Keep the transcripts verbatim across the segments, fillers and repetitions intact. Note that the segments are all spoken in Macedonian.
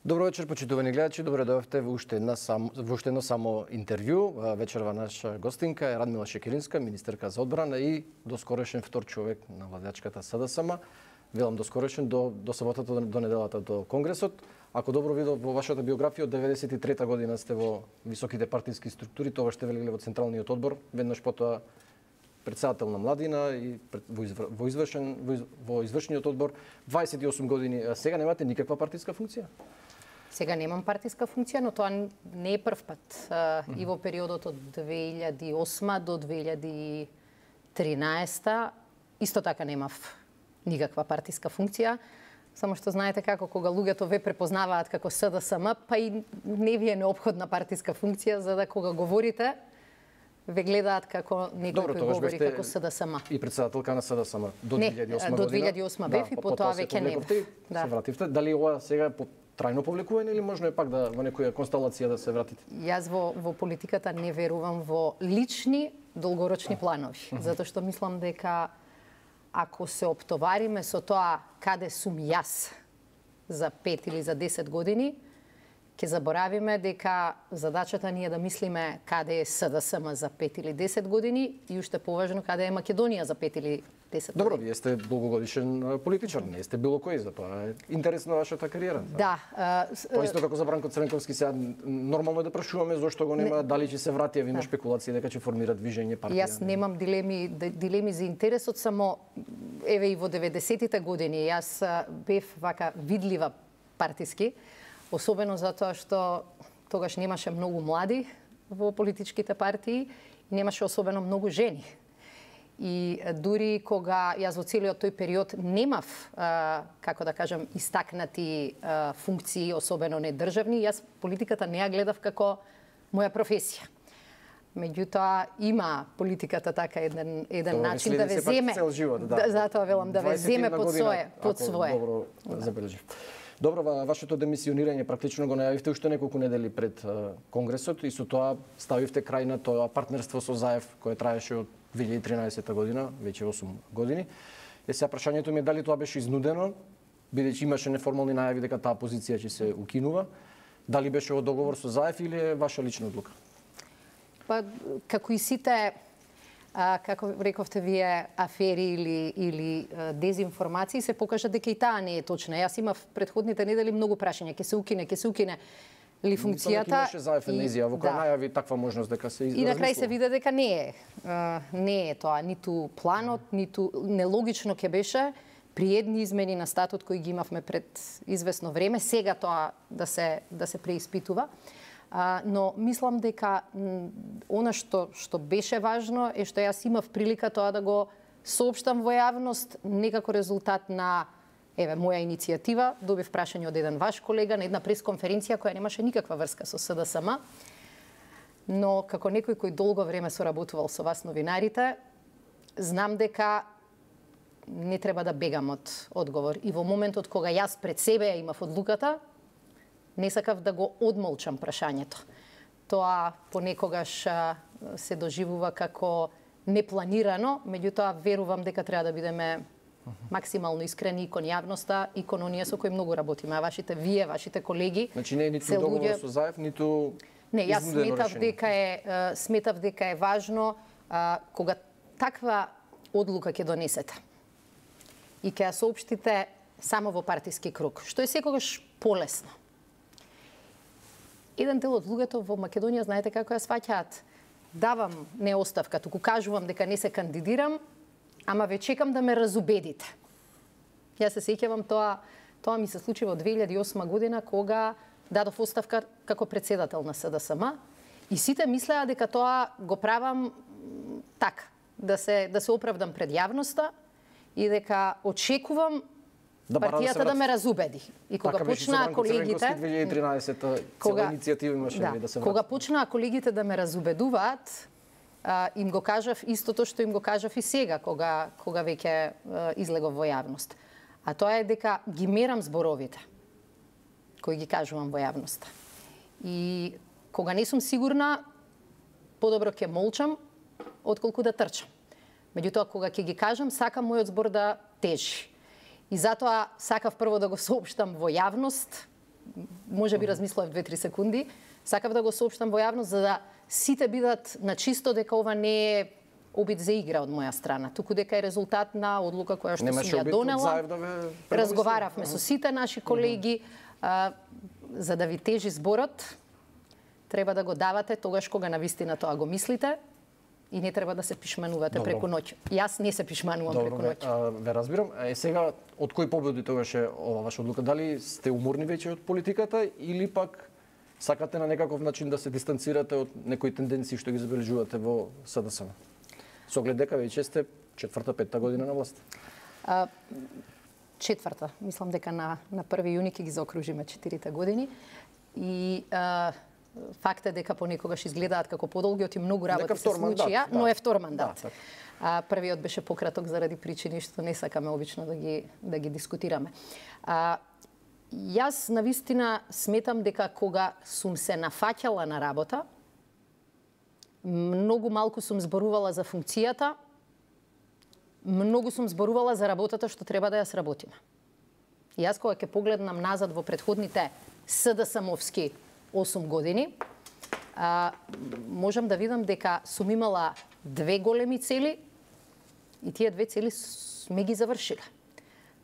Добро вечер, почитувани гледачи. Добре дојавте во уште една само во уште едно само интервју. Вечерва наша гостинка е Радмила Шекеринска, министерка за одбрана и доскорешен втор човек на владачката СДСМ. Велам доскорешен до до саботата до, до неделата до Конгресот. Ако добро видов во вашата биографија, од деветдесет и трета година сте во високите партиски структури, тогаш сте велеле во Централниот одбор, веднаш потоа председател на Младина и во, извр... во извршен во, из... во извршниот одбор дваесет и осум години. Сега немате никаква партиска функција? Сега немам партиска функција, но тоа не е прв пат. Mm-hmm. И во периодот од две илјади и осма до две илјади и тринаесета исто така немав никаква партиска функција. Само што знаете како кога луѓето ве препознаваат како СДСМ, па и не ви е неопходна партиска функција за да кога говорите ве гледаат како некој Добро, кој говори како СДСМ. И председателка на СДСМ до две илјади и осма не, година. до две илјади и осма бев, да, и потоа веќе не. Да. Се вративте. Дали ова сега по трајно повлекување или можно е пак да во некоја констелација да се вратите? Јас во во политиката не верувам во лични долгорочни планови, uh -huh. затоа што мислам дека ако се оптовариме со тоа каде сум јас за пет или за десет години, ќе заборавиме дека задачата ни е да мислиме каде е СДСМ за пет или десет години и уште поважно каде е Македонија за пет или десет години. Добро, вие сте долгогодишен политичар, не сте било кој, за тоа е интересна вашата кариера. Да. Тоа исто како за Бранко Црнковски, сега нормално е да прашуваме зошто го нема, не, дали ќе се врати, има да. спекулации дека ќе формира движење партија. Јас немам дилеми дилеми за интересот, само еве и во деветдесетите години јас бев вака видлива партиски, особено затоа што тогаш немаше многу млади во политичките партии и немаше особено многу жени. И дури кога јас во целиот тој период немав, а, како да кажам, истакнати а, функции, особено не државни, јас политиката не ја гледав како моја професија. Меѓутоа има политиката така еден еден Тоа начин да ве земе. Живот, да. Да, затоа велам да ве земе под свое, под свое. Добро да. забележив. Добро, вашето демисионирање практично го најавивте уште неколку недели пред uh, Конгресот и со тоа ставивте крај на тоа партнерство со Заев кое траеше од две илјади и тринаесета година, веќе осум години. Е сега прашањето ми е дали тоа беше изнудено, бидејќи имаше неформални најави дека таа позиција ќе се укинува, дали беше во договор со Заев или е ваша лична одлука? Па како и сите А, како рековте вие, афери или, или а, дезинформации, се покажа дека и таа не е точна. Јас имав предходните недели многу прашања, ќе се укине, ќе се укине ли функцијата. Имаше Заев енезија, во која да. најави таква можност дека се изразмислува. И на крај се виде дека не е. А, не е тоа, ниту планот, ниту нелогично ќе беше при едни измени на статут кои ги имавме пред известно време, сега тоа да се да се преиспитува. А, но мислам дека она што што беше важно е што јас имав прилика тоа да го соопштам во јавност некако резултат на еве моја иницијатива. Добив прашање од еден ваш колега на една пресконференција која немаше никаква врска со СДСМ. Но како некој кој долго време соработувал со вас новинарите, знам дека не треба да бегам од одговор. И во моментот кога јас пред себе имав одлуката, не сакав да го одмолчам прашањето. Тоа понекогаш се доживува како непланирано, меѓутоа верувам дека треба да бидеме максимално искрени и кон јавноста и кон оние со кои многу работиме. А вашите вие, вашите колеги... Значи не е ниту договор луѓе... со Заев, ниту... Не, јас сметав дека е сметав дека е важно а, кога таква одлука ќе донесете и ќе ја соопштите само во партиски круг, што е секогаш полесно. Еден дел од луѓето во Македонија, знаете како ја сваќаат? Давам не оставка, туку кажувам дека не се кандидирам, ама ве чекам да ме разубедите. Јас се сеќавам тоа, тоа ми се случи во две илјади и осма година кога дадов оставка како председател на СДСМ и сите мислеа дека тоа го правам така, да се да се оправдам пред јавноста и дека очекувам да партијата да, да ме разубеди. И кога така почнаа колегите две илјади и тринаесета цела иницијатива имаше да, да се врати. Кога почнаа колегите да ме разубедуваат, а, им го кажав истото што им го кажав и сега кога кога веќе излегов во јавност. А тоа е дека ги мерам зборовите кои ги кажувам во јавноста. И кога не сум сигурна, подобро ќе молчам отколку да трчам. Меѓутоа кога ќе ги кажам, сакам мојот збор да тежи. И затоа сакав прво да го соопштам во јавност може би размислував две-три секунди, сакав да го соопштам во јавност за да сите бидат на чисто дека ова не е обид за игра од моја страна, туку дека е резултат на одлука која што сум ја донела. Да разговаравме со сите наши колеги, а, за да ви тежи зборот, треба да го давате тогаш кога навистина тоа го мислите и не треба да се пишманувате Добро. преку ноќ. Јас не се пишманувам Добро, преку ве, ноќ. а, ве разбирам. Е сега од кој победи тогаш е ова ваша одлука? Дали сте уморни веќе од политиката или пак сакате на некаков начин да се дистанцирате од некои тенденции што ги забележувате во СДСМ? Со оглед дека веќе сте четврта, петта година на власт. А, четврта, мислам дека на на први јуни ќе ги заокружиме четирите години и а, факт е дека понекогаш изгледаат како подолги, и многу работи се случија, да. Но е втор мандат. Да, а, првиот беше пократок заради причини што не сакаме обично да ги да ги дискутираме. А, јас навистина сметам дека кога сум се нафаќала на работа, многу малку сум зборувала за функцијата, многу сум зборувала за работата што треба да ја сработиме. И јас кога ќе погледнам назад во претходните СДСМовски осум години, а, можам да видам дека сум имала две големи цели и тие две цели сме ги завршиле.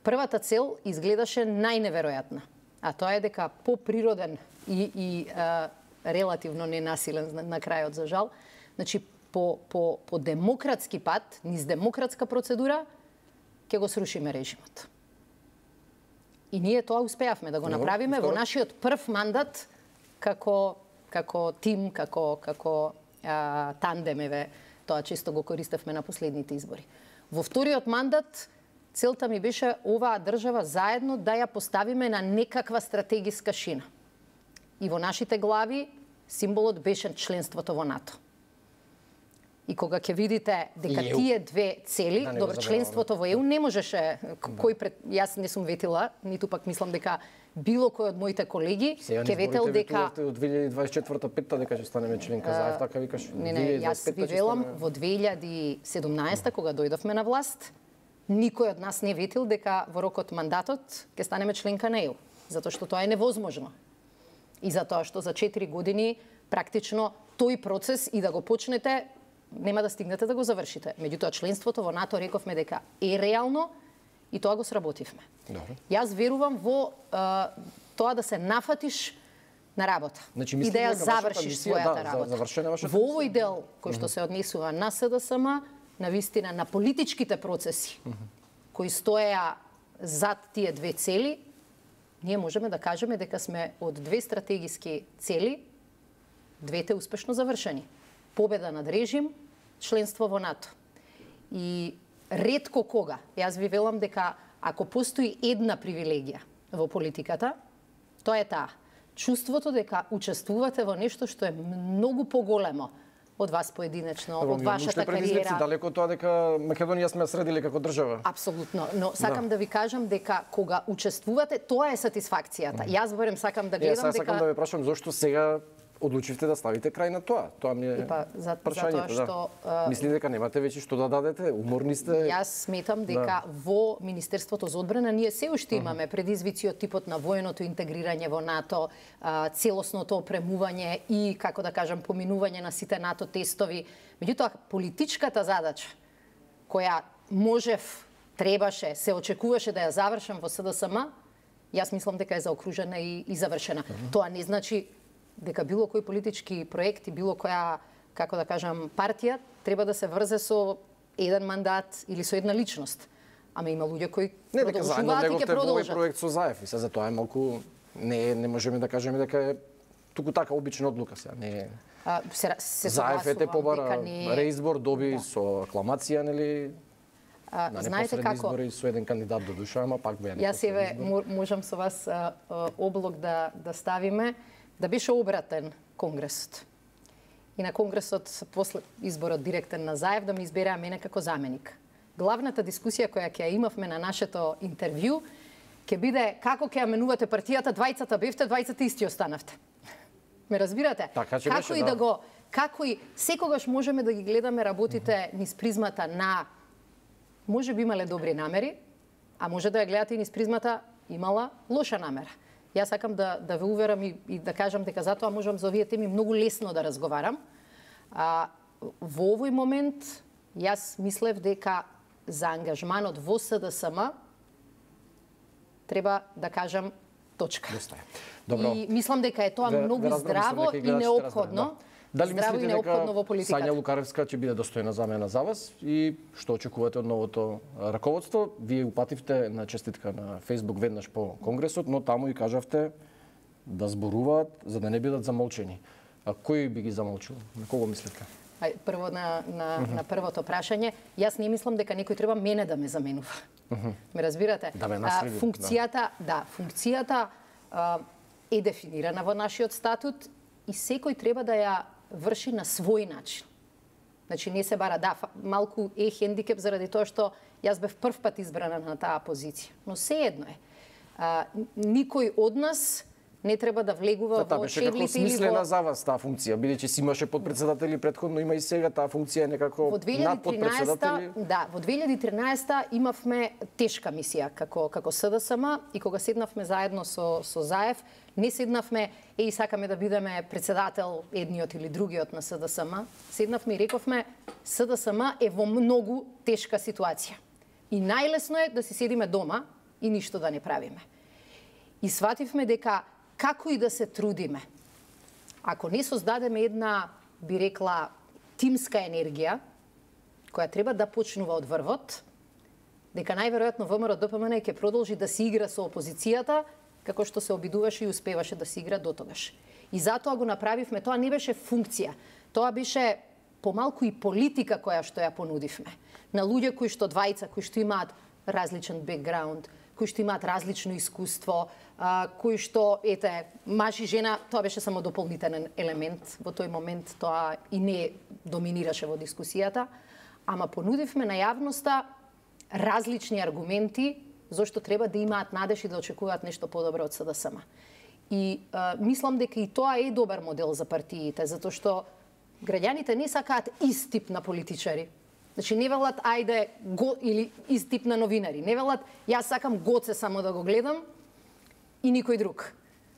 Првата цел изгледаше најневеројатна, а тоа е дека поприроден и, и а, релативно ненасилен на, на крајот за жал, значи по, по, по демократски пат, низ демократска процедура, ќе го срушиме режимот. И ние тоа успеавме да го направиме во нашиот прв мандат како како тим, како како а, тандем, еве, тоа често го користевме на последните избори. Во вториот мандат целта ми беше оваа држава заедно да ја поставиме на некаква стратегиска шина. И во нашите глави символот беше членството во НАТО. И кога ќе видите дека тие две цели, да, добро, членството во ЕУ не можеше, кој пред, јас не сум ветила, ниту пак мислам дека било кој од моите колеги ќе ветел дека од две илјади дваесет и четврта петта дека ќе станеме членка заев, така викаш. Не, не, јас ви велам во две илјади и седумнаесета кога дојдовме на власт, никој од нас не ветил дека во рокот мандатот ќе станеме членка на ЕУ, затоа што тоа е невозможно. И затоа што за четири години практично тој процес и да го почнете нема да стигнете да го завршите. Меѓутоа членството во НАТО рековме дека е реално и тоа го сработивме. Добре. Јас верувам во а, тоа да се нафатиш на работа, значи, и да ја завршиш својата да, работа. За, во овој дел кој што се однесува на СДСМ, на вистина на политичките процеси mm -hmm. кои стоеа зад тие две цели, ние можеме да кажеме дека сме од две стратегиски цели, двете успешно завршени. Победа над режим, членство во НАТО. И ретко кога, јас ви велам дека ако постои една привилегија во политиката, тоа е таа. Чувството дека учествувате во нешто што е многу поголемо од вас поединечно, Добро, од вашата кариера. Далеко тоа дека Македонија сме средили како држава. Апсолутно, но сакам да, да ви кажам дека кога учествувате, тоа е сатисфакцијата. Mm. Јас барем сакам да гледам дека... Јас дека... сакам да ве прашам зошто сега одлучивте да ставите крај на тоа. Тоа ми е па, за, прашањето, затоа што да. Мислите дека немате веќе што да дадете, уморни сте? Јас сметам дека да. Во Министерството за одбрана ние се уште имаме предизвици од типот на военото интегрирање во НАТО, целосното опремување и, како да кажам, поминување на сите НАТО тестови. Меѓутоа, политичката задача која можев, требаше, се очекуваше да ја завршам во СДСМ, јас мислам дека е заокружена и, и завршена. Uh -huh. Тоа не значи дека било кој политички проект и било која, како да кажам, партија треба да се врзе со еден мандат или со една личност. Ама има луѓе кои не, дека продолжуваат и ќе продолжат. Не, проект со Заев и се за тоа е малку не не можеме да кажеме дека е туку така обична одлука сега, не е. А, се се Заев е те побара не... реизбор, доби да. Со акламација, нели? А, на знаете како избори со еден кандидат до душа, ама пак беа. Јас еве можам со вас а, а, облог да да ставиме да беше обратен конгресот. И на конгресот после изборот директен на Заев да ме избереа мене како заменик. Главната дискусија која ќе ја имавме на нашето интервју ќе биде како ќе ја менувате партијата, двајцата бевте, двајцата исти останавте. Ме разбирате? Така, како беше, и да. да го како и секогаш можеме да ги гледаме работите mm -hmm. низ призмата на може би имале добри намери, а може да ја гледате и низ призмата имала лоша намера. Јас сакам да да ве уверам и, и да кажам дека затоа можам за овие теми многу лесно да разговарам. А во овој момент јас мислев дека за ангажманот во С Д С М треба да кажам точка. Добро. И мислам дека е тоа ве, многу ве здраво и неопходно. Дали здраво мислите и неопходно во дека политиката? Сања Лукаревска ќе биде достојна замена за вас и што очекувате од новото раководство? Вие упативте на честитка на Facebook веднаш по Конгресот, но таму и кажавте да зборуваат за да не бидат замолчени. А кој би ги замолчил? На кого мислите? Ај, прво на, на, uh -huh. на првото прашање, јас не мислам дека некој треба мене да ме заменува. Uh -huh. Ме разбирате? Да ме наследи. Функцијата, да, да функцијата а, е дефинирана во нашиот статут и секој треба да ја врши на свој начин. Значи не се бара, да, малку е хендикеп заради тоа што јас бев прв пат избрана на таа позиција, но сеедно е. А, никој од нас не треба да влегува да, во шеблите или во... Беше како смислена за вас таа функција, бидејќи си имаше подпредседатели претходно, има и сега таа функција е некако над подпредседатели. Да, во две илјади и тринаесета имавме тешка мисија како како С Д С М и кога седнавме заедно со со Заев, не седнавме е и сакаме да бидеме председател едниот или другиот на С Д С М, седнавме и рековме С Д С М е во многу тешка ситуација. И најлесно е да си седиме дома и ништо да не правиме. И свативме дека како и да се трудиме, ако не создадеме една, би рекла, тимска енергија, која треба да почнува од врвот, дека најверојатно В М Р Д П М Н ќе продолжи да се игра со опозицијата, како што се обидуваше и успеваше да се игра дотогаш. И затоа го направивме, тоа не беше функција, тоа беше помалку и политика која што ја понудивме. На луѓе кои што двајца, кои што имаат различен бекграунд, кои што имаат различно искуство, а, кои што, ете, маж и жена, тоа беше само дополнителен елемент во тој момент, тоа и не доминираше во дискусијата, ама понудивме на јавноста различни аргументи зашто треба да имаат надеж и да очекуваат нешто подобро од С Д С М. И а, мислам дека и тоа е добар модел за партиите, затоа што граѓаните не сакаат ист тип на политичари. Значи не велат ајде го или ист тип на новинари. Не велат јас сакам Гоце само да го гледам и никој друг.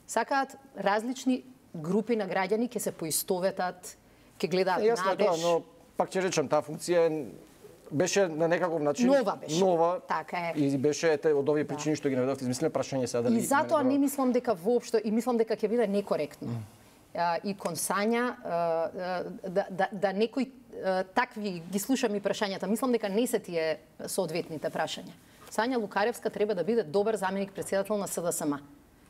Сакаат различни групи на граѓани ќе се поистоветат, ќе гледаат надеж. Јасно тоа, но пак ќе речам таа функција беше на некаков начин нова беше. Нова. Така е. И беше ете од овие причини да. што ги наведовте, измислено прашање сега дали. И затоа не мислам дека воопшто и мислам дека ќе биде некоректно. Mm. И кон Сања да да да некој такви ги слушам и прашањата, мислам дека не се тие соодветните прашања. Сања Лукаревска треба да биде добар заменик председател на С Д С М.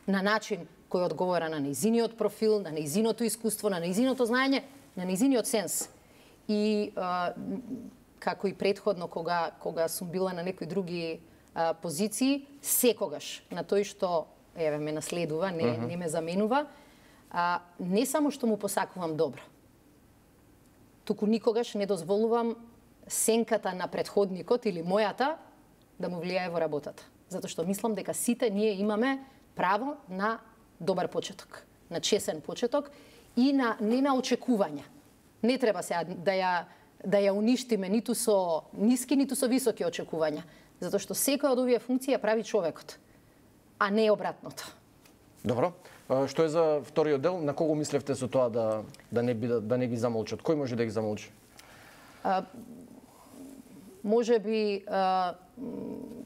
На начин кој одговара на нејзиниот профил, на нејзиното искуство, на нејзиното знаење, на нејзиниот сенс. И а, како и претходно кога кога сум била на некои други а, позиции, секогаш на тој што еве ме наследува, не uh -huh. не ме заменува, а, не само што му посакувам добро, туку никогаш не дозволувам сенката на претходникот или мојата да му влијае во работата. Затоа што мислам дека сите ние имаме право на добар почеток, на чесен почеток и на не на очекувања. Не треба сега да ја да ја уништиме ниту со ниски, ниту со високи очекувања, затоа што секоја од овие функции ја прави човекот, а не обратното. Добро. Што е за вториот дел? На кого мислевте со тоа да да не биде да не ги замолчат? Кој може да ги замолчи? А, може би а,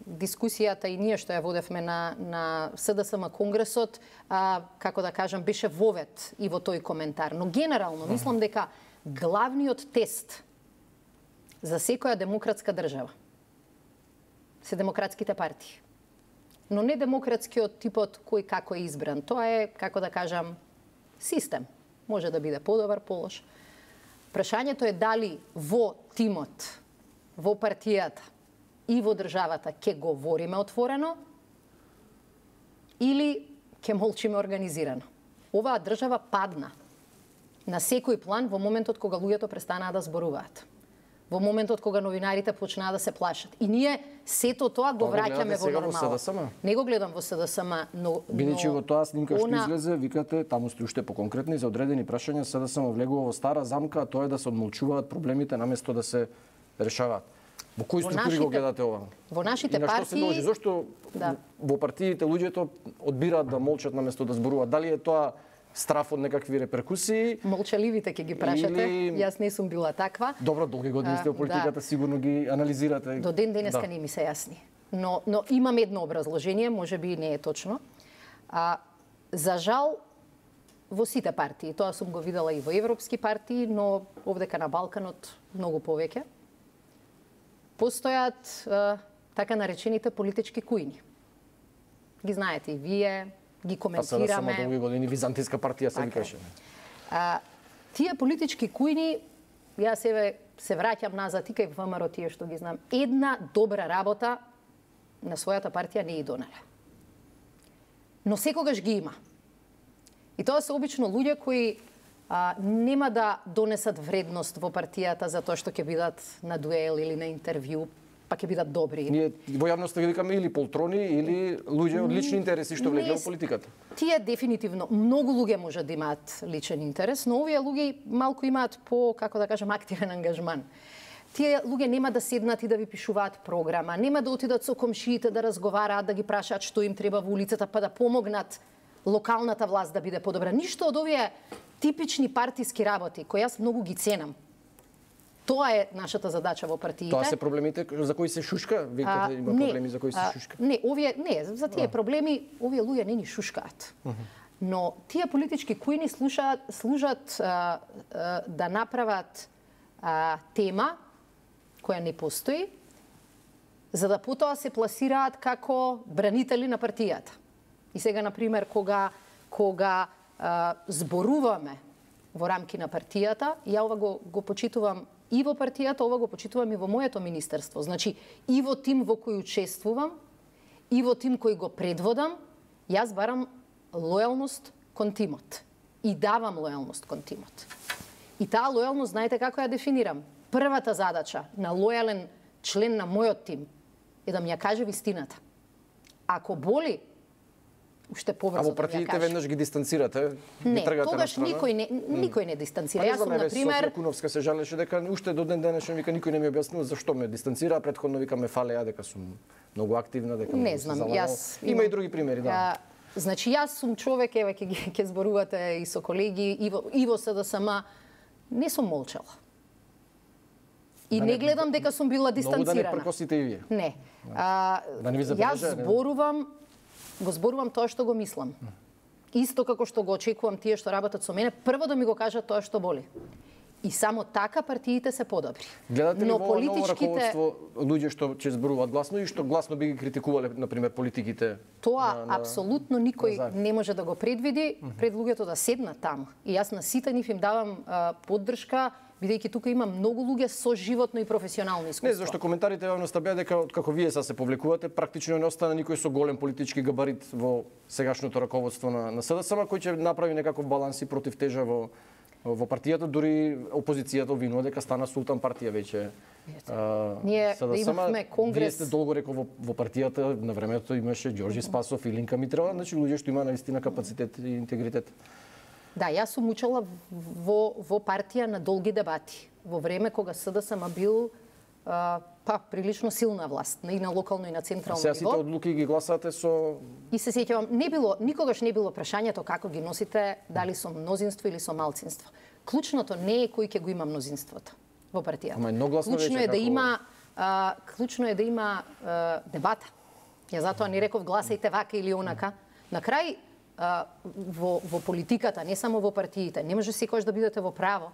дискусијата и ние што ја водевме на на С Д С М конгресот, а, како да кажам, беше вовет и во тој коментар, но генерално мислам дека главниот тест за секоја демократска држава се демократските партии. Но не демократскиот типот кој како е избран. Тоа е, како да кажам, систем. Може да биде подобар, полош. Прашањето е дали во тимот, во партијата и во државата ќе говориме отворено или ќе молчиме организирано. Оваа држава падна на секој план во моментот кога луѓето престанаа да зборуваат. Во моментот кога новинарите почнаа да се плашат. И ние сето тоа го враќаме во нормала. Во С Д С М? Не го гледам во С Д С М, но... Бидејќи во тоа снимка што она... излезе, викате, таму сте уште поконкретни, за одредени прашања С Д С М влегува во стара замка, а тоа е да се одмолчуваат проблемите наместо да се решаваат. Во кои структури го гледате ова? Во нашите и на што партии... се дължи? Зошто да. во партиите луѓето одбираат да молчат наместо да зборуваат? Дали е тоа страф од некакви реперкусии? Молчаливите ќе ги прашате. Или... Јас не сум била таква. Добро, долги години сте во политиката, да. Сигурно ги анализирате. До ден денеска да. Не ми се јасни. Но, но имам едно образложение, може би не е точно. А, за жал, во сите партии, тоа сум го видела и во европски партии, но овдека на Балканот многу повеќе, постојат а, така наречените политички кујни. Ги знаете и вие, ги коментираме. А сега само долги години византијска партија се викаше. А, тие политички кујни, јас еве се враќам назад и кај ВМРО тие што ги знам, една добра работа на својата партија не и донеле. Но секогаш ги има. И тоа се обично луѓе кои а, нема да донесат вредност во партијата за тоа што ќе бидат на дуел или на интервју, па ќе бидат добри. Ние во јавноста ги викаме или полтрони, или луѓе од лични интереси што влегле во политиката. Тие дефинитивно, многу луѓе може да имаат личен интерес, но овие луѓе малку имаат по, како да кажам, активен ангажман. Тие луѓе нема да седнат и да ви пишуваат програма, нема да отидат со комшиите да разговараат, да ги прашаат што им треба во улицата, па да помогнат локалната власт да биде подобра. Ништо од овие типични партиски работи, кои јас многу ги ценам. Тоа е нашата задача во партиите. Тоа се проблемите за кои се шушка? Викате, има не, проблеми за кои се шушка? А, не, овие не, за тие а. проблеми овие луѓе не ни шушкаат. Uh -huh. Но тие политички кујни слушаат, служат а, а, да направат а, тема која не постои, за да потоа се пласираат како бранители на партијата. И сега, например, кога, кога а, зборуваме во рамки на партијата, ја ова го, го почитувам и во партијата, ова го почитувам и во моето министерство. Значи, и во тим во кој учествувам, и во тим кој го предводам, јас барам лојалност кон тимот. И давам лојалност кон тимот. И таа лојалност, знаете како ја дефинирам? Првата задача на лојален член на мојот тим е да ми ја каже вистината. Ако боли, уште побрзо да ја каже. А во партиите веднаш ги дистанцирате? Не, тогаш никој не, никој не дистанцира. Јас сум, например... Софија Куновска се жалеше дека уште до ден денешен вика никој не ми објаснил зашто ме дистанцира, предходно вика ме фалеа дека сум многу активна, дека не знам, јас... Има и други примери, да. А, значи, јас сум човек, еве, ќе ќе зборувате и со колеги, и во, и во СДСМ, не сум молчала. И да не, не гледам дека сум била дистанцирана. Многу да не пркосите и вие. Не. А, да не ви забележа, јас зборувам, го зборувам тоа што го мислам. Исто како што го очекувам тие што работат со мене, прво да ми го кажат тоа што боли. И само така партиите се подобри. Гледате ли во ново раководство луѓе што ќе зборуваат гласно и што гласно би ги критикувале, например, политиките? Тоа на, на... апсолутно никој на не може да го предвиди пред луѓето да седнат таму. И јас на сите нив им давам а, поддршка, бидејќи тука има многу луѓе со животно и професионално искуство. Не, зашто коментарите јавноста беа дека како вие са се повлекувате, практично не остана никој со голем политички габарит во сегашното раководство на, на СДСМ, кој ќе направи некаков баланс и против тежа во во партијата, дури опозицијата обвинува дека стана султан партија веќе. Ние имавме конгрес. Вие сте долго рекол во, во партијата, на времето имаше Ѓорѓи Спасов, Илинка Митрова, значи луѓе што има наистина капацитет и интегритет. Да, јас сум учела во, во партија на долги дебати. Во време кога СДСМ бил а, па прилично силна власт, и на локално и на централно ниво. Сега сите одлуки ги гласате со... И се сеќавам, не било, никогаш не било прашањето како ги носите, дали со мнозинство или со малцинство. Клучното не е кој ќе го има мнозинството во партијата. Ама едногласно клучно вече е да како... има а, клучно е да има а, дебата. Ја затоа не реков гласајте вака или онака. На крај а, во, во политиката, не само во партиите, не може секојаш да бидете во право.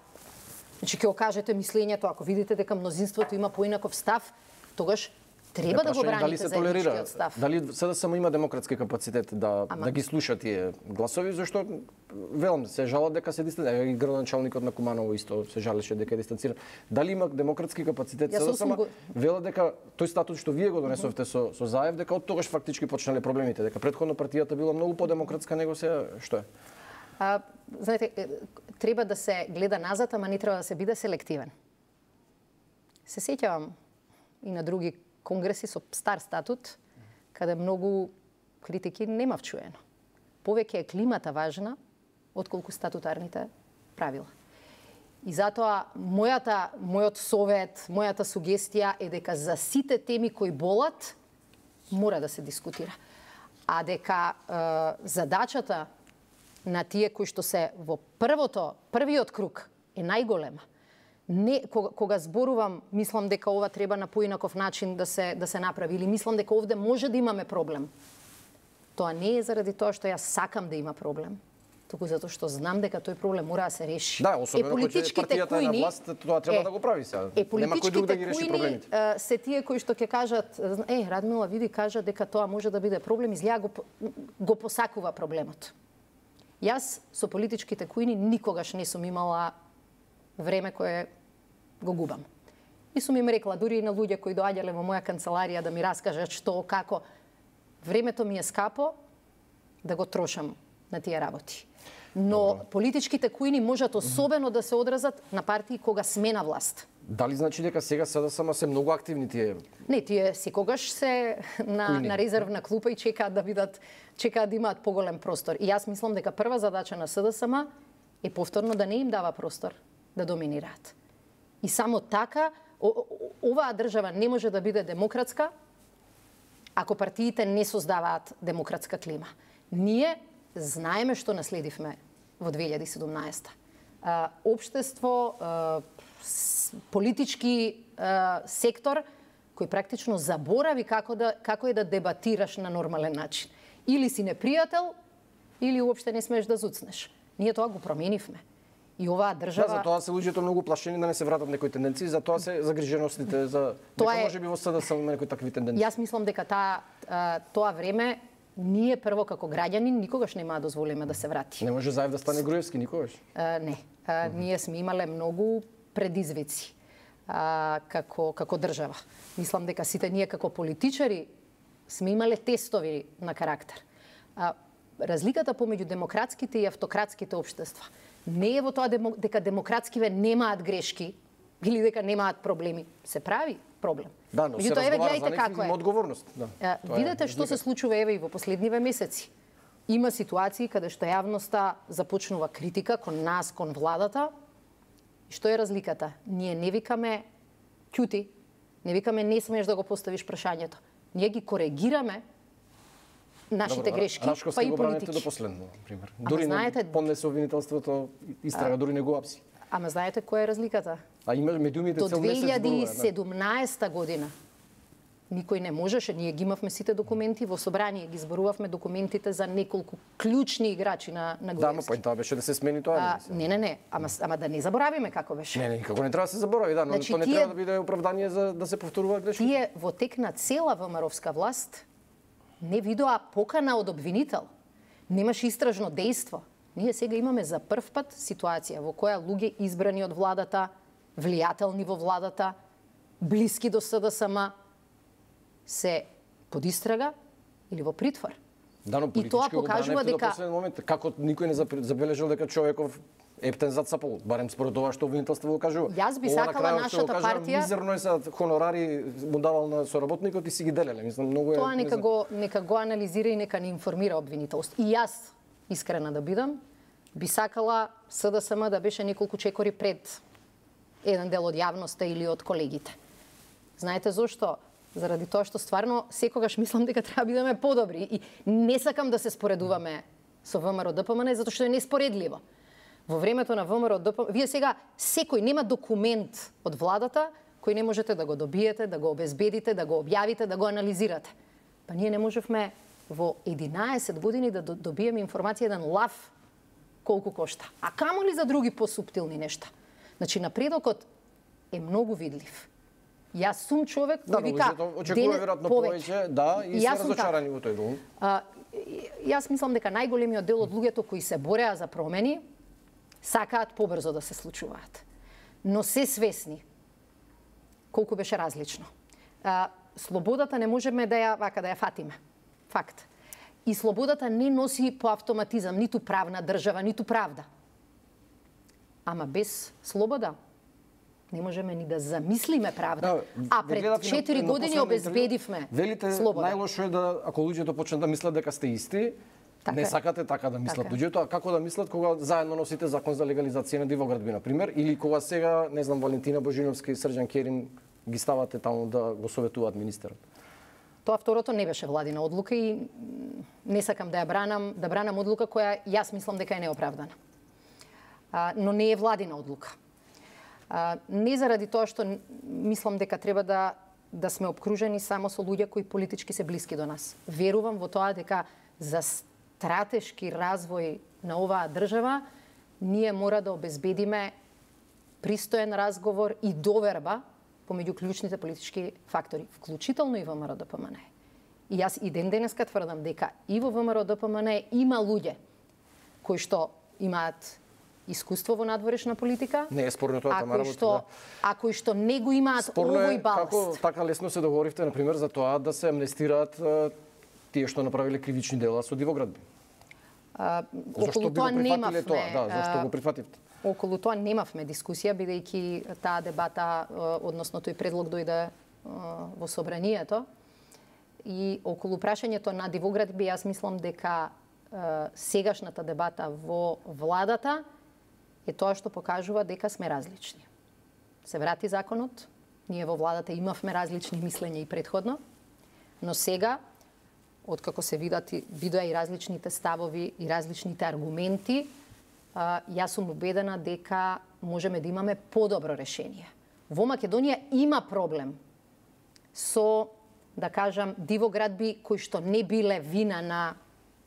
Значи ќе окажете мислењето, ако видите дека мнозинството има поинаков став, тогаш треба не, да го браните заедничкиот став. Дали СДСМ има демократски капацитет да Ама... да ги слуша тие гласови, зашто велам се жалат дека се дистанцира, и градоначалникот на Куманово исто се жалеше дека е дистанциран. Дали има демократски капацитет СДСМ? Го... Вела дека тој статут што вие го донесовте со со Заев, дека од тогаш фактички почнале проблемите, дека претходно партијата била многу подемократска него сега што е? А, знаете, треба да се гледа назад, ама не треба да се биде селективен. Се сеќавам и на други конгреси со стар статут, каде многу критики нема вчуено. Повеќе е климата важна, отколку статутарните правила. И затоа мојата мојот совет, мојата сугестија е дека за сите теми кои болат мора да се дискутира. А дека е, задачата на тие кои што се во првото, првиот круг е најголема. Не, кога, кога зборувам, мислам дека ова треба на поинаков начин да се да се направи или мислам дека овде може да имаме проблем. Тоа не е заради тоа што јас сакам да има проблем, туку затоа што знам дека тој проблем мора да се реши. Да, особено кога партијата е на власт, тоа треба е, да го прави сега. Е, нема кој друг да ги реши проблемите. Е, се тие кои што ќе кажат, е, Радмила види кажа дека тоа може да биде проблем, изгледа го го посакува проблемот. Јас со политичките кујни никогаш не сум имала време кое го губам. И сум им рекла, дури и на луѓе кои доаѓале во моја канцеларија да ми раскажат што, како, времето ми е скапо да го трошам на тие работи. Но Добро. Политичките кујни можат особено да се одразат на партии кога сме на власт. Дали значи дека сега СДСМ се многу активни тие? Не, тие секогаш се на, на резервна клупа и чекаат да бидат, чекаат да имаат поголем простор. И јас мислам дека прва задача на СДСМ е повторно да не им дава простор да доминираат. И само така оваа држава не може да биде демократска ако партиите не создаваат демократска клима. Ние знаеме што наследивме во две илјади и седумнаесета. Обштество, политички сектор кој практично заборави како да како е да дебатираш на нормален начин. Или си непријател, или уопште не смееш да зуцнеш. Ние тоа го променивме. И оваа држава... Да, затоа се луѓето многу плашени да не се вратат некои тенденции, затоа се загриженостите за дека може би во СДСМ има некои такви тенденции. Јас мислам дека таа тоа време ние прво како граѓани никогаш нема да дозволиме да се врати. Не може Заев да стане Груевски никогаш? А, не. А, uh -huh. Ние сме имале многу предизвици а, како како држава. Мислам дека сите ние како политичари сме имале тестови на карактер. А, разликата помеѓу демократските и автократските општества не е во тоа дека демократскиве немаат грешки или дека немаат проблеми. Се прави проблем. Да, но се разговара за некаква одговорност. Да, а, видете што се случува еве и во последниве месеци. Има ситуации каде што јавноста започнува критика кон нас, кон владата. И што е разликата? Ние не викаме ќути, не викаме не смееш да го поставиш прашањето. Ние ги коригираме нашите Добро, грешки, Рашковски па и го браните политики. до последно, пример. Ама Дури знаете, не поднесе обвинителството, истрага, дури не го апси. Ама знаете која е разликата? А има медиумите до цел месец две илјади и зборува, седумнаесета година никој не можеше, ние ги имавме сите документи, во собрание ги зборувавме документите за неколку клучни играчи на на Да, но поинтава беше да се смени тоа. А, не, не, не, ама ама да не заборавиме како беше. Не, не, никако не треба да се заборави, да, но Значи, тоа не тие- треба да биде оправдание за да се повторуваат грешки. Тие во тек на цела ВМРО-вска власт не видоа покана од обвинител. Немаше истражно дејство. Ние сега имаме за прв пат ситуација во која луѓе избрани од владата, влијателни во владата, блиски до СДСМ, се под истрага или во притвор. Да, но И тоа политички го покажува браневте до дека последен момент. Како никој не запр- забележал дека човеков ептен зацапал, барем според ова што обвинителство го кажува. Јас би Ова на сакала крајот што го нашата кажа, партија- Мизерно е са хонорари му давал на соработникот и си ги делеле. Мислам, многу е... тоа не нека знам. го нека го анализира и нека ни информира обвинителство. И јас, искрена да бидам, би сакала СДСМ да беше неколку чекори пред еден дел од јавноста или од колегите. Знаете зошто? Заради тоа што стварно секогаш мислам дека треба да бидеме подобри и не сакам да се споредуваме со ВМРО-ДПМН затоа што е неспоредливо. Во времето на ВМРО-ДПМН, вие сега секој нема документ од владата кој не можете да го добиете, да го обезбедите, да го објавите, да го анализирате. Па ние не можевме во единаесет години да добиеме информација еден лав колку кошта. А камо ли за други посуптилни нешта? Значи напредокот е многу видлив. Јас сум човек Да, кој вика очекува веројатно повеќе, да, и се разочарани во тој дом. Јас мислам дека најголемиот дел од луѓето кои се бореа за промени сакаат побрзо да се случуваат. Но се свесни колку беше различно. А, слободата не можеме да ја вака да ја фатиме. Факт. И слободата не носи по автоматизам ниту правна држава, ниту правда. Ама без слобода не можеме ни да замислиме правда. Да, а пред четири години обезбедивме велите, слобода. Најлошо е да ако луѓето почнат да мислат дека сте исти, Така не е. сакате така да мислат Така е. луѓето, а како да мислат кога заедно носите закон за легализација на дивоградби, на пример, или кога сега, не знам, Валентина Божиновска и Срđan Керин ги ставате таму да го советуваат министерот? Тоа второто не беше владина одлука и не сакам да ја бранам, да бранам одлука која јас мислам дека е неоправдана. А, но не е владина одлука. А, не заради тоа што мислам дека треба да да сме обкружени само со луѓе кои политички се блиски до нас. Верувам во тоа дека за стратешки развој на оваа држава ние мора да обезбедиме пристоен разговор и доверба помеѓу клучните политички фактори, вклучително и во ВМРО-ДПМН. И јас и ден денеска тврдам дека и во ВМРО-ДПМН има луѓе кои што имаат искуство во надворешна политика. Не е спорно тоа, Тамара, кои што, да. А кои што не го имаат спорно овој е баласт. Како така лесно се договоривте, на пример, за тоа да се амнестираат тие што направиле кривични дела со дивоградби? А, Зошто би го прифатиле тоа? Да, зашто го прифативте? Околу тоа немавме дискусија, бидејќи таа дебата, односно тој предлог дојде во собранието. И околу прашањето на дивоградби, јас мислам дека сегашната дебата во владата е тоа што покажува дека сме различни. Се врати законот, ние во владата имавме различни мислења и предходно, но сега, откако се видат, видоа и различните ставови и различните аргументи, јас сум убедена дека можеме да имаме подобро решение. Во Македонија има проблем со, да кажам, дивоградби кои што не биле вина на,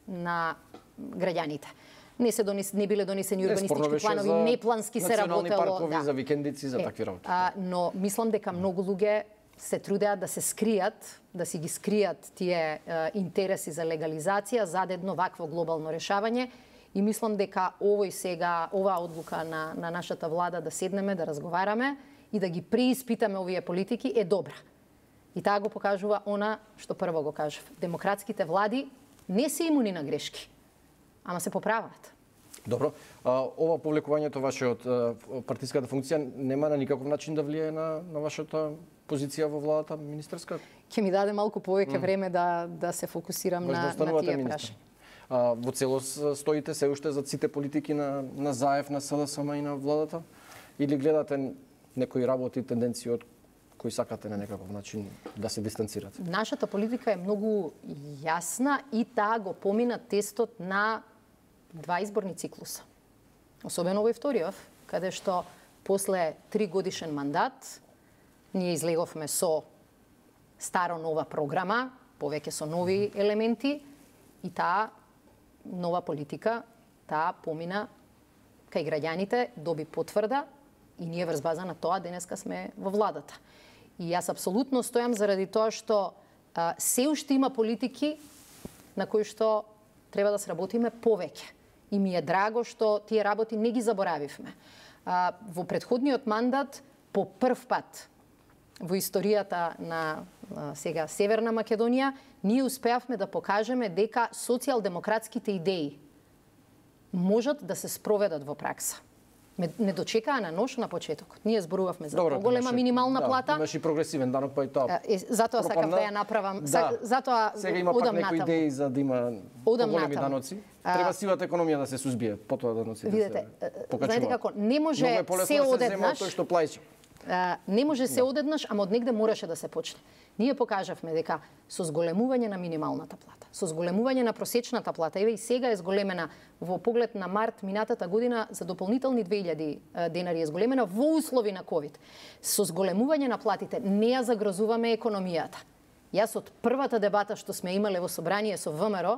на граѓаните. Не се донес, не биле донесени урбанистички планови, неплански се работело. Национални паркови, да. за викендици, за е, такви работи. А, но мислам дека многу луѓе се трудеат да се скријат, да си ги скријат тие е, интереси за легализација зад едно вакво глобално решавање. И мислам дека овој сега, оваа одлука на, на нашата влада да седнеме, да разговараме и да ги преиспитаме овие политики е добра. И таа го покажува она што прво го кажав. Демократските влади не се имуни на грешки, ама се поправаат. Добро. А, ова повлекувањето ваше од партиската функција нема на никаков начин да влие на, на вашата позиција во владата министерска? Ќе ми даде малку повеќе mm. време да, да се фокусирам Може на, да на тие министр. прашања. А, во целост стоите се уште за сите политики на, на ЗАЕФ, на СДСМ и на владата? Или гледате некои работи, тенденции од кои сакате на некаков начин да се дистанцирате? Нашата политика е многу јасна и таа го помина тестот на два изборни циклуса. Особено во вториот, каде што после три годишен мандат ние излеговме со старо-нова програма, повеќе со нови елементи и таа нова политика, таа помина кај граѓаните, доби потврда и ние врз база на тоа денеска сме во владата. И јас апсолутно стојам заради тоа што а, се уште има политики на кои што треба да сработиме повеќе. И ми е драго што тие работи не ги заборавивме. А, во претходниот мандат, по прв пат во историјата на а, сега Северна Македонија, ние успеавме да покажеме дека социјалдемократските идеи можат да се спроведат во пракса. Не дочекаа на нож на почетокот. Ние зборувавме за поголема минимална да, плата. Имаше и прогресивен данок, па и тоа. Е, затоа сакав да ја направам. Да. Затоа сега има пак некои идеи за да има поголеми даноци. Треба сивата економија да се сузбие, потоа даноците видите, да се покачуваат. Знаете како, не може е се одеднаш. Тој што плаќа. Не може се одеднаш, ама од негде мораше да се почне. Ние покажавме дека со зголемување на минималната плата, со зголемување на просечната плата, еве и сега е зголемена во поглед на март минатата година за дополнителни две илјади денари е зголемена во услови на ковид. Со зголемување на платите не ја загрозуваме економијата. Јас од првата дебата што сме имале во собрание со ВМРО,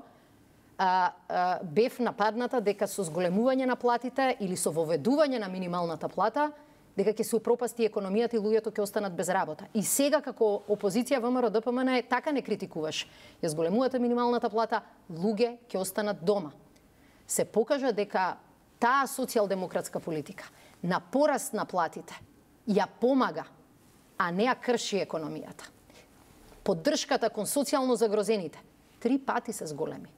а, а, бев нападната дека со зголемување на платите или со воведување на минималната плата дека ќе се упропасти економијата и луѓето ќе останат без работа. И сега како опозиција ВМРО-ДПМН така не критикуваш. Ја зголемувате минималната плата, луѓе ќе останат дома. Се покажа дека таа социјалдемократска политика на пораст на платите ја помага, а не ја крши економијата. Поддршката кон социјално загрозените три пати се зголеми.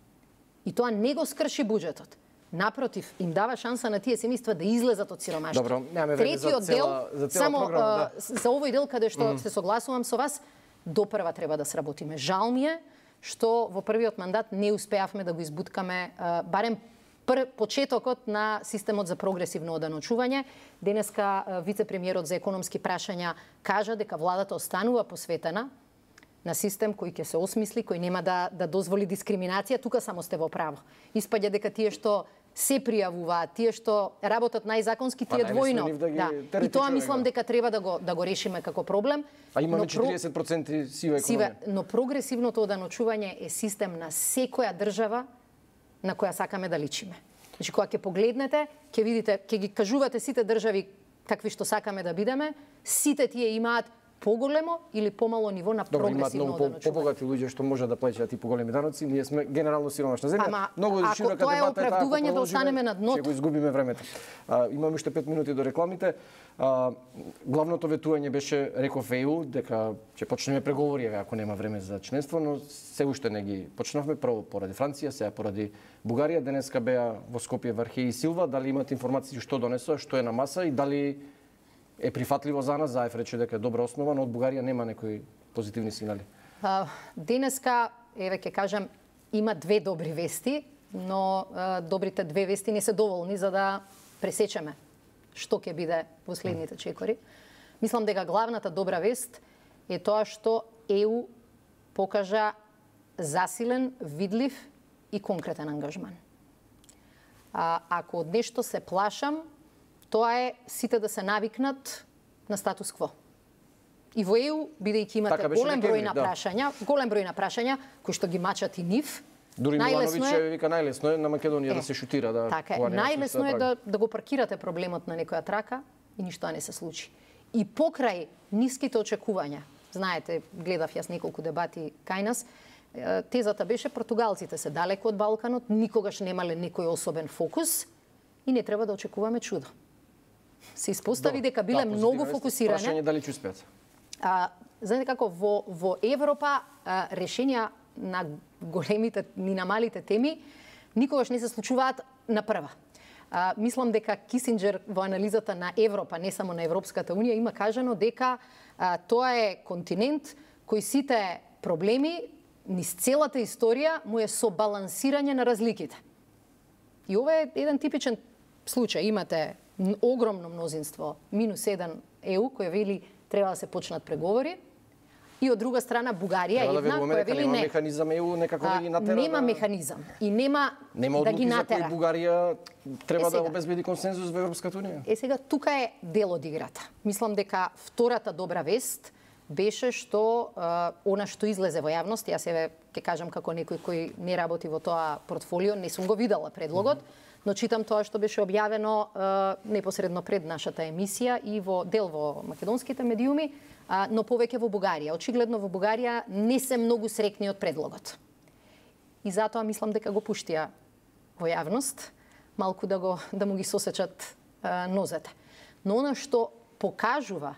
И тоа не го скрши буџетот. Напротив, им дава шанса на тие семејства да излезат од сиромаштво. Добро, немаме време за цела, за цела само, програма. Да. За овој дел каде што mm. се согласувам со вас, до прва треба да сработиме. Жал ми е што во првиот мандат не успеавме да го избуткаме барем пр почетокот на системот за прогресивно оданочување. Денеска вице-премиерот за економски прашања кажа дека владата останува посветена на систем кој ќе се осмисли, кој нема да да дозволи дискриминација. Тука само сте во право. Испаѓа дека тие што се пријавуваат, тие што работат најзаконски, тие двојно. Да. И тоа мислам дека треба да го да го решиме како проблем. А имаме четириесет проценти сива економија. Сива, но прогресивното оданочување е систем на секоја држава на која сакаме да личиме. Значи, кога ќе погледнете, ќе видите, ќе ги кажувате сите држави какви што сакаме да бидеме, сите тие имаат поголемо или помало ниво на прогресивно оданочување. Добро, имаат многу побогати луѓе што може да плаќаат и поголеми даноци. Ние сме генерално сиромашна земја. Ама, многу широка дебата е, ако тоа е оправдување да останеме на дното, ќе го изгубиме времето. А, имаме уште пет минути до рекламите. А, главното ветување беше, реков Е Ју, дека ќе почнеме преговори, ако нема време за членство, но се уште не ги почнавме, прво поради Франција, сега поради Бугарија. Денеска беа во Скопје Вархеј и Силва. Дали имате информации што донесоа, што е на маса и дали е прифатливо за нас? Заев рече дека е добра основа, но од Бугарија нема некои позитивни сигнали. А, денеска, еве ќе кажам, има две добри вести, но а, добрите две вести не се доволни за да пресечеме што ќе биде во следните чекори. Мислам дека главната добра вест е тоа што Е Ју покажа засилен, видлив и конкретен ангажман. А, ако од нешто се плашам, тоа е сите да се навикнат на статус кво. И во Е Ју, бидејќи имате така голем број на прашања, да. голем број на прашања кои што ги мачат и нив. Дури Милановиќ е... вика најлесно е на Македонија е, да се шутира, да. Така е, најлесно е да да го паркирате проблемот на некоја трака и ништо не се случи. И покрај ниските очекувања, знаете, гледав јас неколку дебати кај нас, тезата беше португалците се далеку од Балканот, никогаш немале некој особен фокус и не треба да очекуваме чудо. Се испостави дека биле да, многу фокусирани. Прашање дали ќе успеат. А, знаете како во во Европа а, решенија на големите и на малите теми никогаш не се случуваат на прва. А, мислам дека Кисинџер во анализата на Европа, не само на Европската унија, има кажано дека а, тоа е континент кој сите проблеми низ целата историја му е со балансирање на разликите. И ова е еден типичен случај. Имате огромно мнозинство, минус еден Е Ју, кој вели треба да се почнат преговори. И од друга страна Бугарија е една која вели не. Нема механизам Е Ју некако да ги натера. Нема да... механизам и нема, нема да ги натера. Нема одлуки за кои Бугарија треба е, да обезбеди консензус во Европската унија. Е сега тука е дел од играта. Мислам дека втората добра вест беше што а, она што излезе во јавност, јас еве ќе кажам како некој кој не работи во тоа портфолио, не сум го видела предлогот, mm -hmm. но читам тоа што беше објавено а, непосредно пред нашата емисија и во дел во македонските медиуми, а, но повеќе во Бугарија. Очигледно во Бугарија не се многу срекни од предлогот. И затоа мислам дека го пуштија во јавност, малку да го да му ги сосечат а, нозете. Но она што покажува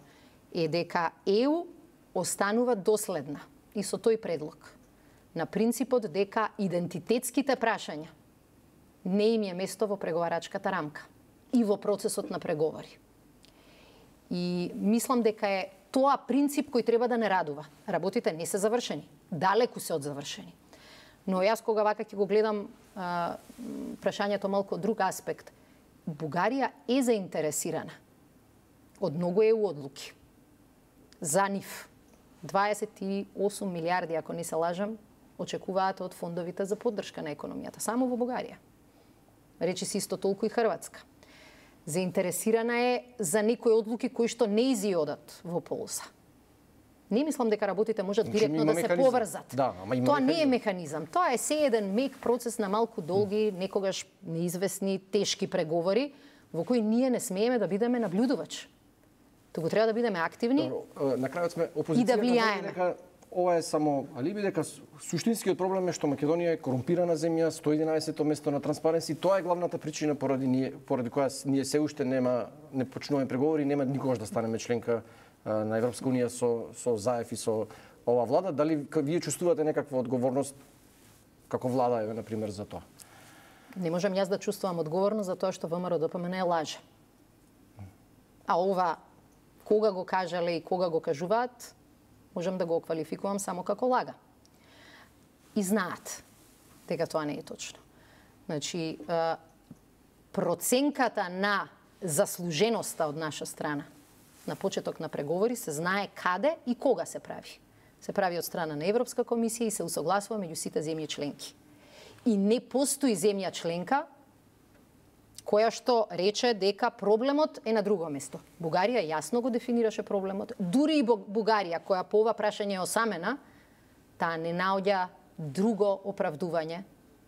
е дека Е Ју останува доследна и со тој предлог на принципот дека идентитетските прашања не им е место во преговарачката рамка и во процесот на преговори. И мислам дека е тоа принцип кој треба да не радува. Работите не се завршени, далеку се од завршени. Но јас кога вака ќе го гледам а, прашањето малку од друг аспект, Бугарија е заинтересирана од многу Е Ју одлуки за нив. дваесет и осум милиарди, ако не се лажам, очекуваат од фондовите за поддршка на економијата, само во Бугарија. Речи си исто толку и Хрватска. Заинтересирана е за некои одлуки кои што не изиодат во полза. Не мислам дека работите можат директно да се поврзат. Да, ама има Тоа механизам. не е механизам. Тоа е се еден мек процес на малку долги, некогаш неизвестни, тешки преговори, во кои ние не смееме да бидеме наблюдувач. Туку треба да бидеме активни. Добро, на крајот сме опозицијата и да влијаеме. Дека ова е само алиби, дека суштинскиот проблем е што Македонија е корумпирана земја, сто и единаесетто место на Транспаренси. Тоа е главната причина поради ние, поради која ние се уште нема не почнуваме преговори, нема никогаш да станеме членка на Европска унија со со Заев и со ова влада. Дали вие чувствувате некаква одговорност како влада, еве на пример за тоа? Не можам јас да чувствувам одговорност за тоа што ВМРО Д П М Н е лаже. А ова кога го кажале и кога го кажуваат, можам да го квалификувам само како лага. и знаат дека тоа не е точно. Значи, проценката на заслуженоста од наша страна на почеток на преговори се знае каде и кога се прави. Се прави од страна на Европска комисија и се усогласува меѓу сите земји членки. И не постои земја членка која што рече дека проблемот е на друго место. Бугарија јасно го дефинираше проблемот. Дури и Бугарија, која по ова прашање е осамена, таа не наоѓа друго оправдување.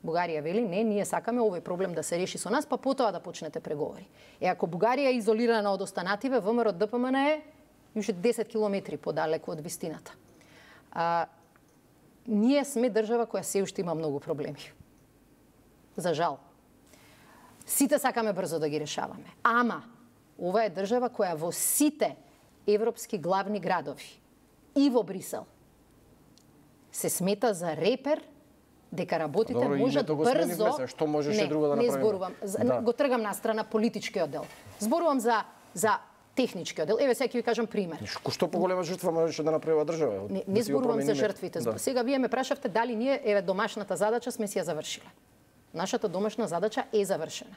Бугарија вели, не, ние сакаме овој проблем да се реши со нас, па потоа да почнете преговори. Е, ако Бугарија е изолирана од останативе, ВМРО ДПМН е уште десет километри подалеку од вистината. А, ние сме држава која се уште има многу проблеми. За жал. Сите сакаме брзо да ги решаваме. Ама, ова е држава која во сите европски главни градови и во Брисел се смета за репер дека работите Добро, можат брзо. Се, што можеше не, друго да не направиме? зборувам. Да. Го тргам на страна политичкиот дел. Зборувам за за техничкиот дел. Еве сега ќе ви кажам пример. Што поголема жртва можеше да направи држава? Не, не зборувам за жртвите. Да. Сега вие ме прашавте дали ние еве домашната задача сме си ја завршиле. Нашата домашна задача е завршена.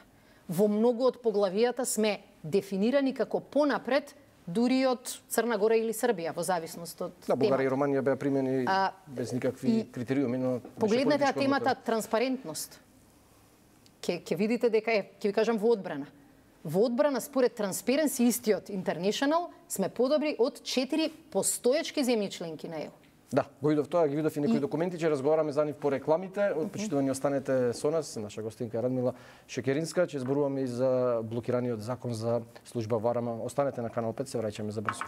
Во многу од поглавијата сме дефинирани како понапред дури од Црна Гора или Србија, во зависност од да, Бугарија и темата. Романија беа примени А, без никакви критериуми, но погледнете ја темата транспарентност. Ке ќе видите дека е, ќе ви кажам во одбрана. Во одбрана според Transparency истиот International сме подобри од четири постоечки земји членки на ЕУ. Да, го видов тоа, ги видов и некои и... документи, ќе разговараме за нив по рекламите. Почитувани останете со нас, наша гостинка Радмила Шекеринска, ќе зборуваме и за блокираниот закон за служба Варама. Останете на канал пет, се враќаме за брзо.